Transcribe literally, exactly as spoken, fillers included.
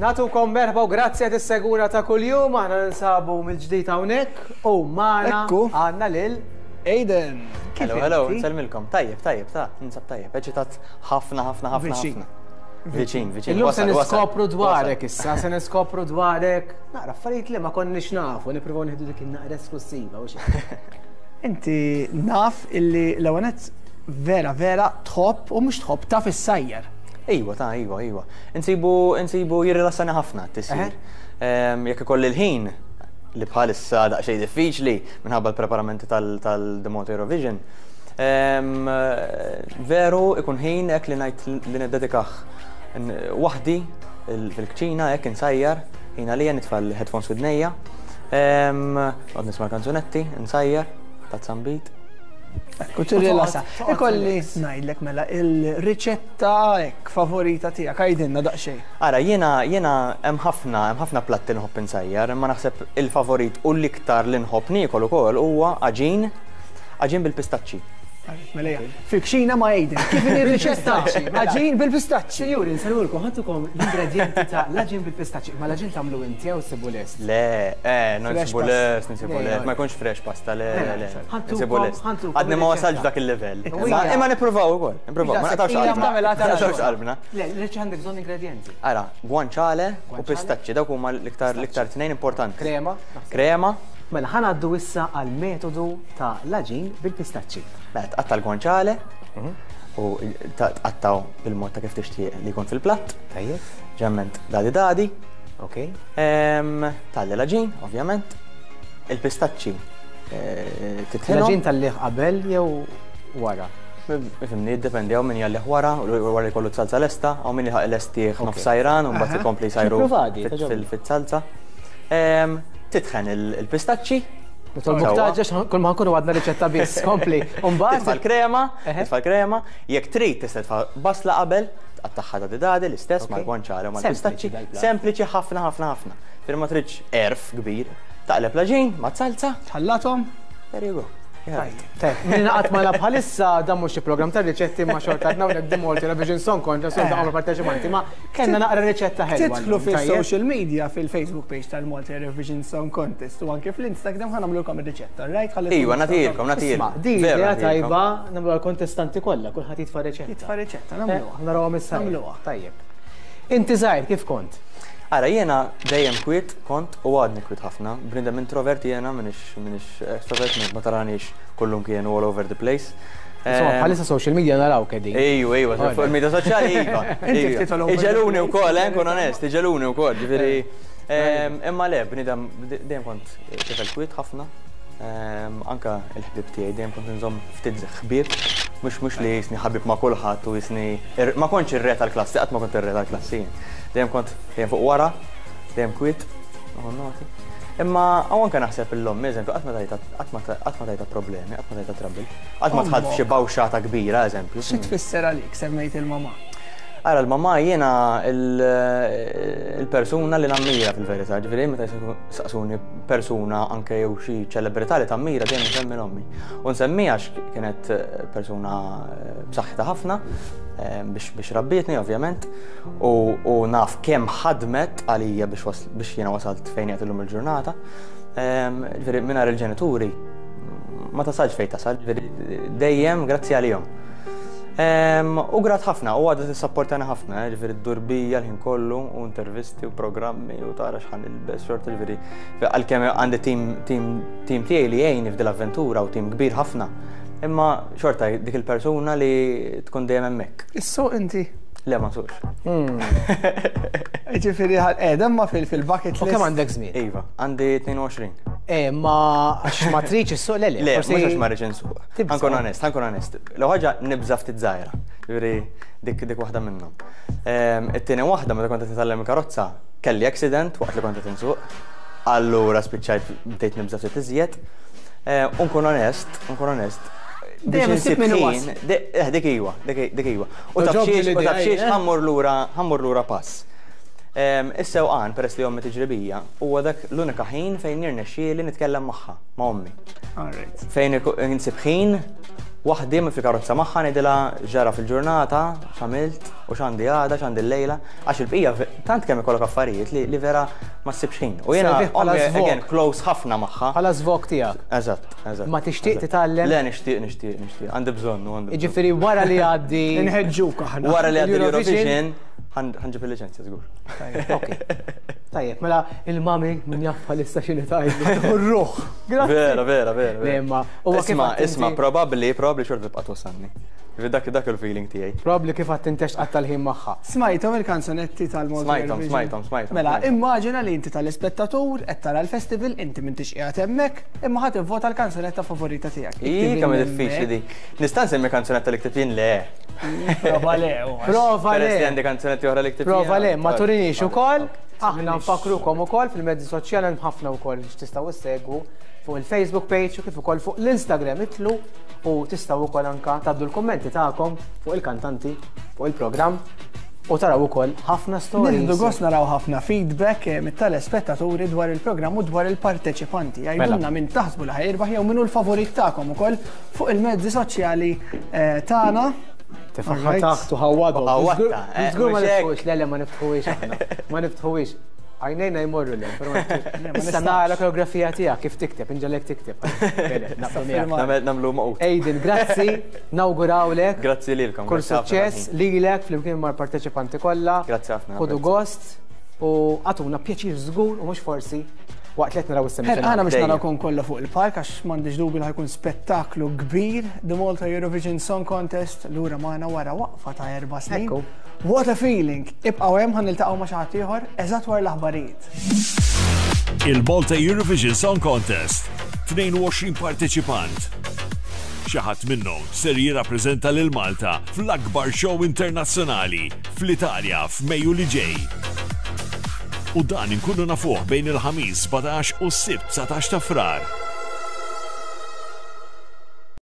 Nagħtukom merħba u grazzi għad is-segura ta' kuljum, aħna ninsabu mill-ġdid hawnhekk u magħna Ekku. għandna lil Aidan. Kif Hello, hello, inti? Nsellmilkom. Tajjeb, tajjeb, ta' ninsab tajjeb. Eċitat ħafna, ħafna, ħafna, Viċin. ħafna. Viċin, viċin. Illum se Wasal, wasal, niskopru dwarek wasal. Issa, se niskopru dwarek. Naqra affarijiet li ma konniex nafu, nippruvaw nieħdu dik in-naqra esklusiva u xi. Inti naf illi l-ewwel nett vera vera tħobb, u mhux tħobb, taf issajjar. Iwa, ta' iwa, iwa. Insibu, insibu jirrilassani ħafna t-tisjir. Ehm, Jekk ikolli l-ħin, li bħalissa daqsxejn diffiċli minħabba l-preparamenti tal-The Malta Eurovision, ehm, veru ikun ħin hekk li ngħid li niddedikah n- waħdi il- fil-kċina, hekk insajjar, ħin għalija, nitfa' l-headphones f'widnejja, ehm, Noqgħod nisma' kanzunetti, insajjar, tazza nbid. Ekku, tirrilassa. Toqgħod Ikolli relax. ngħidlek mela il-riċetta hekk favorita tiegħek, għidilna daqsxejn. Ara, jiena jiena hemm ħafna hemm ħafna platti li nħobb insajjar, imma naħseb il-favorit u l-iktar li nħobb niekol ukoll huwa għaġin, għaġin bil-pistaċċi. Mela ejja, fil-kċina ma' Aidan. Kif inhi r-riċetta? Għaġin bil-pistaċċi. Sinjuri, nsellmulkom, ħa ntukom l-ingredienti ta' l-għaġin bil-pistaċċi. Ma l-għaġin tagħmlu inti jew ssibu lest? Le, eh, non Fresh nsibu pasta. lest, nsibu Le, lest, ma le. jkunx fresh pasta, le, Le, le, le. ħantukom- Nsibu lest. ħantukom Għadni ma wasalx ir-riċetta. dak il-level. U Imma hija- imma nippruvaw ukoll, nippruvaw, ma naqtawx Ila qalbna. tagħmel Ma naqtawx għatara. qalbna. Le, li għandek bżonn ingredienti. Ara, guanciale u Guanciale. pistaċċi, dawk huma l-iktar l-iktar tnejn importanti. Krema. Krema. Mela ħa ngħaddu issa għal metodu ta' l-għaġin bil-pistaċċi. Mela tqatta' l-guanciale u ta- tqattaw bil-mod ta' kif tixtieq li jkun fil-platt. Tajjeb. Ġemment dadi dadi. Ok. Ehm, Tgħalli l-għaġin, ovvjament. Il-pistaċċi eh, titħinhom. L-għaġin tgħallih qabel jew wara? Ifhimni, jiddependi, hawn min jgħallih wara, u wara jkollu salsa lesta, hawn min jħaq lestih nofs sajran, u mbagħad ikompli jsajru Nippruvadi, fit- togħġobni. fil- fit-salsa. Ehm, Titħen il- il-pistaċċi. Nitolbuk Sewwa. taġġex, kull ma nkunu għadna riċetta biss, kompli. Titfa' Umbagħad l-krema, Eħe. titfa' l-krema, jekk trid tista' titfa' basla qabel, tqattagħha dadi dadi l-istess Ok. mal-guanciale u Sempliċi mal-pistaċċi. dal-plat. Sempliċi ħafna, ħafna, ħafna. Firma ma tridx għerf kbir. Taqleb l-għaġin ma' salsa, Tħallathom? There you go. Yeah. Tajjeb, min qatt ma bħalissa, dan mhux xi program ta' riċetti, ma xorta għadna hawnhekk The Malta Eurovision Song Contest, u dawn parteċipanti, ma kellna naqra riċetta ħelwa. Tidħlu llum, tajjeb? fil-social media, fil-Facebook page tal-Malta Eurovision Song Contest u anke fl-Instagram, ħa nagħmlulkom ir-riċetta, right? Ħalli Iwa, tkunu nagħtilkom, Isma', nagħtilkom. di Vera idea nagħtilkom. tajba, nagħmlu għal-kontestanti kollha, kulħadd jitfa' riċetta. Jitfa' riċetta, Eh, nagħmluha. Narawhom issa. Nagħmluha. Tajjeb. Inti żgħir kif kont? Ara, jiena dejjem kwiet kont u għadni kwiet ħafna. Bniedem introvert jiena, m'iniex m'iniex extrovert, ma taranix kullum kienu all over the place. Insomma, Ehm, bħalissa social media naraw kedin. Ejju, ejju, fuq il-media soċjali, iva. Inti Iva. ftit all over the Iġeluni place. wkoll, eh, nkun onest, iġeluni wkoll, ġifieri. ehm, Imma le, bniedem dejjem kont tifel kwiet ħafna. Ehm, Anka il-ħbib tiegħi dejjem kont nżomm ftit ħbieb, mhux mhux li jisni ħabib ma' kulħadd u jisni ma kontx ir-re tal-klassi, qatt ma kont ir-re tal-klassi. Jien. Dejjem kont dejjem fuq wara, dejjem kwiet, nieħu noti. Imma hawn anke naħseb l-omm, eżempju, qatt ma tajta qatt ma qatt ma tajta problemi, qatt ma tajta trouble, qatt ma dħalt f'xi bawxata kbira, eżempju. Xi tfisser għalik, semmejt il-mama? Ara, l-mamma jiena il- il-persuna li nammira fil-verità, ġifieri meta saqsuni persuna anke jew xi ċelebrità li tammira, dejjem nsemmi l-ommi. U nsemmiha għax kienet persuna b'saħħitha ħafna eh, biex biex rabbietni ovvjament u, u naf kemm ħadmet għalija biex was- biex jiena wasalt fejn qiegħed illum il-ġurnata. Ehm, Ġifieri mingħajr il-ġenituri ma tasalx fejn tasal, ġifieri dejjem grazzi għalihom. Em, U grat ħafna, u għadha tissapportani ħafna, eh, ġifieri d-durbija l-ħin kollu, u intervisti u programmi u tara x'ħa nilbes, xorta, ġifieri, għalkemm għandi tim, tim, tim tiegħi li jgħinni f'dil avventura u tim kbir ħafna. Imma xorta dik il-persuna li tkun dejjem hemmhekk. Issuq inti? Le, ma nsuqx. Ġifieri qiegħda ma fil-bucket U list. kemm għandek żmien? Iva, għandi tnejn u għoxrin. Eh, ma għax ma tridx issuq, le le. Le, forsi- mhux għax ma rridx insuq. Tibża'. Ħa nkun onest, ħa nkun onest. L ħaġa nibża ftit żgħira. Ġifieri dik dik waħda minnhom. Ehm, It-tieni waħda, meta kont qed nitgħallem il-karozza, kelli accident waqt li kont qed insuq. Allura spiċċajt bdejt nibża ftit iżjed. Eh, U nkun onest, nkun onest. Dejjem Biex issib insib min ħin, iwassal. de- eh, dik iwa, dik dik iwa. U taf Togħġobni xiex, u l-idea, taf xiex eh? ħa mmur lura, ħa mmur lura pass. Ehm, Is-sewqan, peress li ommi tiġri bija, huwa dak l-unika ħin fejn jirnexxieli nitkellem magħha, ma' ommi. Alright. Fejn iku- insib ħin Waħdi fil-karozza magħha ngħidilha ġara fil-ġurnata, x'għamilt u x'għandi għada, x'għandi l-lejla, għax il-bqija tant kemm ikollok affarijiet li, li vera ma ssibx ħin. U jiena Servih bħala ommi, żvog. again, close ħafna magħha. Bħala żvog tiegħek. Eżatt, eżatt. Ma tixtieq eżatt. titgħallem? Le, nixtieq, nixtieq, nixtieq. Għandi bżonn, u għandi bżonn. Jiġifieri wara li għaddi. Inħeġġuk aħna. Wara li għaddi l-Eurovision- l-Eurovision, ħa nġib il-liċenzja żgur. Ok. Tajjeb, mela il-mami min jaf bħalissa x'inhi tgħidlu. Ruħ. Grazzi. Vera, vera, vera. Le, imma huwa kif Isma, għadt isma, inti- probabli, probabli xorta tibqa' twassalni. Dak dak il-feeling tiegħi. Probabli kif għadt intex qatta l-ħin magħha. Smajthom il-kanzonetti tal-Malta Smajthom, Eurovision? smajthom, smajthom, Mela, smajthom. immaġina li inti tal-ispettatur qed tara l-festival, inti m'intix qiegħed hemmhekk, imma ħadd ivvota l-kanzonetta favorita tiegħek. Ii, kemm diffiċli di. Nista' nsemmi kanzunetta li ktibt jien le. Prova le, u għax. Prova Peress li le. għandi kanzunetti oħra li ktibt Prova jien. le, ma turinix ukoll. Aħna Turinix. nfakrukom ukoll fil-mezzi soċjali hemm ħafna wkoll tistgħu issegwu fuq il-Facebook page u kif ukoll fuq l-Instagram itlu u tistgħu wkoll anka tgħaddu l-kummenti tagħkom fuq il-kantanti, fuq il-programm u taraw ukoll ħafna stories. Nieħdu gost naraw ħafna feedback eh, mit-telespettaturi dwar il-programm u dwar il-parteċipanti. Għidulna min taħsbu li ħa jirbaħ jew min hu l-favorit tagħkom ukoll fuq il-mezzi soċjali eh, tagħna. Tefaħħa Alright. taħt u ħawwadhom. Ħawwadta, eh, Żgur ma mhux hekk. niftħuhiex, le le ma niftħuhiex aħna. Ma niftħuhiex. Għajnejna jmorru le, però ma niftħuhiex. Le, ma Issa nistax. nara koreografija tiegħek kif tikteb, inġalek tikteb. Bene, naqblu miegħek. firma. Nagħmel nagħmlu maqut. Aiden, grazzi, nawgurawlek. Grazzi lilkom. Kull grazzi ħafna suċċess tal-ħin. lilek flimkien mal-parteċipanti kollha. Grazzi ħafna, Ħudu grazzi. gost u għatuna pjaċir żgur u mhux forsi waqt li qed naraw is-semifinali. Għana biex Dejjem. narawkom kollha fuq il-park għax m'għandix dubi li ħa jkun spettaklu kbir The Malta Eurovision Song Contest lura magħna wara waqfa ta' erba' snin. Ekku. What a feeling! Ibqgħu hemm ħa niltaqgħu ma' xi ħadd ieħor eżatt wara l-aħbarijiet. Il-Malta Eurovision Song Contest. tnejn u għoxrin parteċipant. Xi ħadd minnhom ser jirrappreżenta lil Malta fl-akbar show internazzjonali fl-Italja f'Mejju li ġej. U dan inkunu nafuh bejn il-Ħamis sbatax u s-Sibt dsatax ta' Frar.